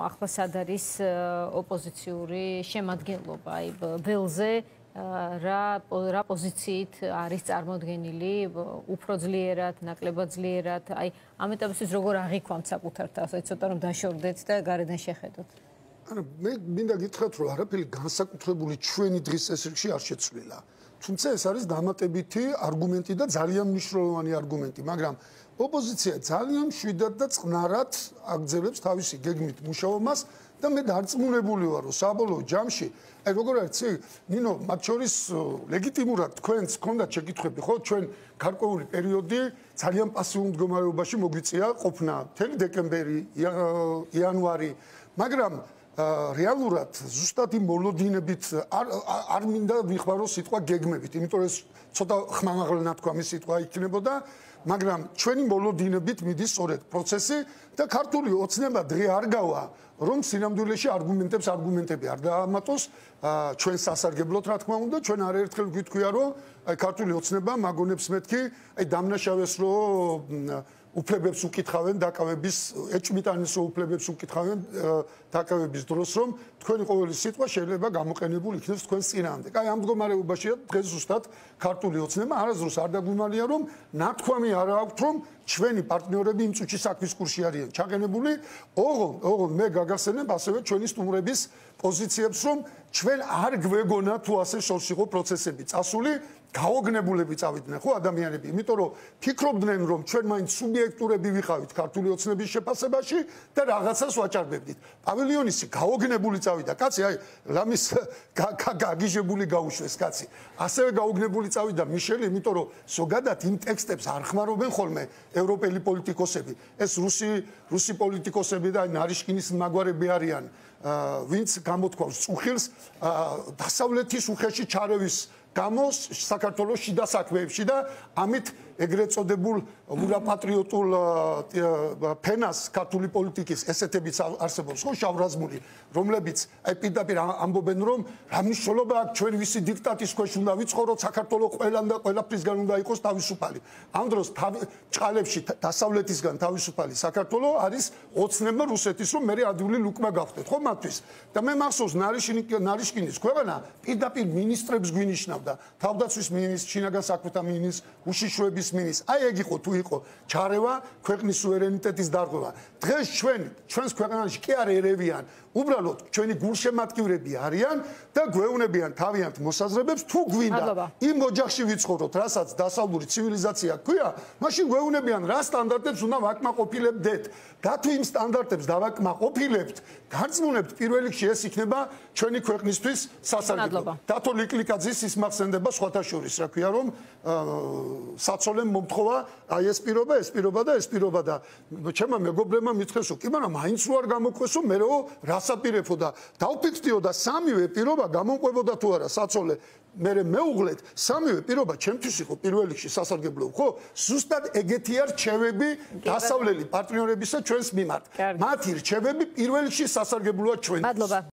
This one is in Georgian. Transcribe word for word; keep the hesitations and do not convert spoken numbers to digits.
ახლა სად არის ოპოზიციური შემადგენლობა, აი ველზე რა რა პოზიციით არის წარმოდგენილი, უფრო ძლიერად, ნაკლებად ძლიერად, აი ამ ეტაპისთვის როგორ აღიქვამთ საკუთარ თავს, აი ცოტა რომ დაშორდეთ და გარედან შეხედოთ. ანუ მე მინდა გითხრათ, რომ არაფერი განსაკუთრებული ჩვენი დღის წესრიგში არ შეცვლილა. თუმცა ეს არის დამატებითი არგუმენტი და ძალიან მნიშვნელოვანი არგუმენტი, მაგრამ ოპოზიცია ძალიან მშვიდად და წყნარად აგრძელებს თავისი გეგმით მუშაობას და მე დარწმუნებული ვარ, რომ საბოლოო ჯამში, აი როგორ არის, ნინო, მათ შორის ლეგიტიმურად თქვენს გქონდათ შეკითხვები, ხო, ჩვენ გარკვეული პერიოდი ძალიან პასიურ მდგომარეობაში მოგვიწია ყოფნა, მთელი დეკემბერი, იანვარი, მაგრამ რეალურად ზუსტად იმ მოლოდინებით არ არ მინდა ვიხმარო სიტყვა გეგმებით, იმიტომ რომ ეს ცოტა ხმამაღლნათქვამი სიტყვა იქნებოდა, მაგრამ ჩვენი მოლოდინებით მიდის სწორედ პროცესი და ქართული ოცნება დღე არ გავა, რომ სინამდვილეში არგუმენტებს არგუმენტები არ დაამატოს ჩვენ სასარგებლოდ, რა თქმა უნდა, ჩვენ არაერთხელ გვიტყვია, რომ აი ქართული ოცნება მაგონებს მეთქი, აი დამნაშავეს რომ უფლებებს უკითხავენ დაკავების ეჭვმიტანის უფლებებს უკითხავენ დაკავების დროს, რომ თქვენი ყოველი სიტყვა შეიძლება გამოყენებული იქნეს თქვენს წინააღმდეგ. აი ამ მდგომარეობაშია დღეს ზუსტად ქართული ოცნება არასდროს არ დაგვიმალია, რომ ნათქვამი არ აქვთ, რომ ჩვენი პარტნიორები იმ წუთში საქმის კურსში არიან ჩაყენებული. ოღონდ, ოღონდ მე გაგახსენებ ასევე ჩვენი სტუმრების პოზიციებს, რომ ჩვენ არ გვეგონა თუ ასე შორს იყო პროცესები წასული, გაოგნებულები წავიდნენ ხო ადამიანები, იმიტომ რომ ფიქრობდნენ, რომ ჩვენ მაინც სუბიექტურები ვიყავით ქართული ოცნების შეფასებაში და რაღაცას ვაჭარბებდით. პავილიონისი გაოგნებული წავიდა, კაცი, აი ლამის გაგიჟებული გაუშვეს კაცი. ასევე გაოგნებული წავიდა მიშელი, იმიტომ რომ ზოგადად იმ ტექსტებს არ ხმარობენ ხოლმე ევროპელი პოლიტიკოსები. ეს რუსი რუსი პოლიტიკოსები და ნარიშკინის მაგვარები არიან, ვინც გამოთქვავს წუხილს დასავლეთის უხეში ჩარევის გამოს საქართველოს შიდა საქმეებში და ამით ეგრეთ წოდებულ ურაპატრიოტულ ფენას ქართული პოლიტიკის ესეთებიც არსებობს ხო შავრაზმული, რომლებიც აი პირდაპირ ამბობენ, რომ რა მნიშვნელობა აქვს ჩვენ ვისი დიქტატის ქვეშ უნდა ვიცხოვროთ, საქართველოს ყველან და ყველაფრისგან უნდა იყოს თავისუფალი. ამ დროს ჭყალებში დასავლეთისგან თავისუფალი საქართველოს არის ოცნება რუსეთის, რომ მე ადვილი ლუკმა გავხდეთ ხო მათთვის. და მე მახსოვს ნარიშკინის ქვეყანა პირდაპირ მინისტრებს გვინიშნავდა, თავდაცვის მინისტრს, შინაგან საქმეთა მინისტრს, უშიშროების მინისტრს. აი ეგ იყო თუ იყო ჩარევა ქვეყნის სუვერენიტეტის დარღვევა. დღეს ჩვენ ჩვენს ქვეყანაში კი არ ერევიან, უბრალოდ ჩვენი გულშემატკივრები არიან და გვეუბნებიან თავიანთ მოსაზრებებს, თუ გვინდა იმ ოჯახში ვიცხოვროთ, რასაც დასავლური ცივილიზაცია ჰქვია, მაშინ გვეუბნებიან რა სტანდარტებს უნდა ვაკმაყოფილებდეთ. და თუ იმ სტანდარტებს დავაკმაყოფილებთ, გარწმუნებთ, პირველ რიგში ეს იქნება ჩვენი ქვეყნისთვის სასარგებლო. დათო ლიკლიკაძის ის მახსენდება სხვათა შორის, რა ქვია, რომ საცოლემ მომთხოვა აი ეს პირობა, ეს პირობა და ეს პირობა და ჩემმა მეგობრებმა მითხრესო, კი, მაგრამ მაინც რო არ გამოქვესო, მერეო რასაპირებო და დავფიქრდიო და სამივე პირობა გამომყვებოდა თუ არა საცოლე. მე მეუღლეთ, სამივე პირობა ჩემთვის იყო პირველ რიგში სასარგებლო, ხო? ზუსტად ეგეთი არ რჩევები დასავლელი პარტნიორებისა ჩვენს მიმართ. მათი რჩევები პირველ რიგში სასარგებლოა ჩვენთვის.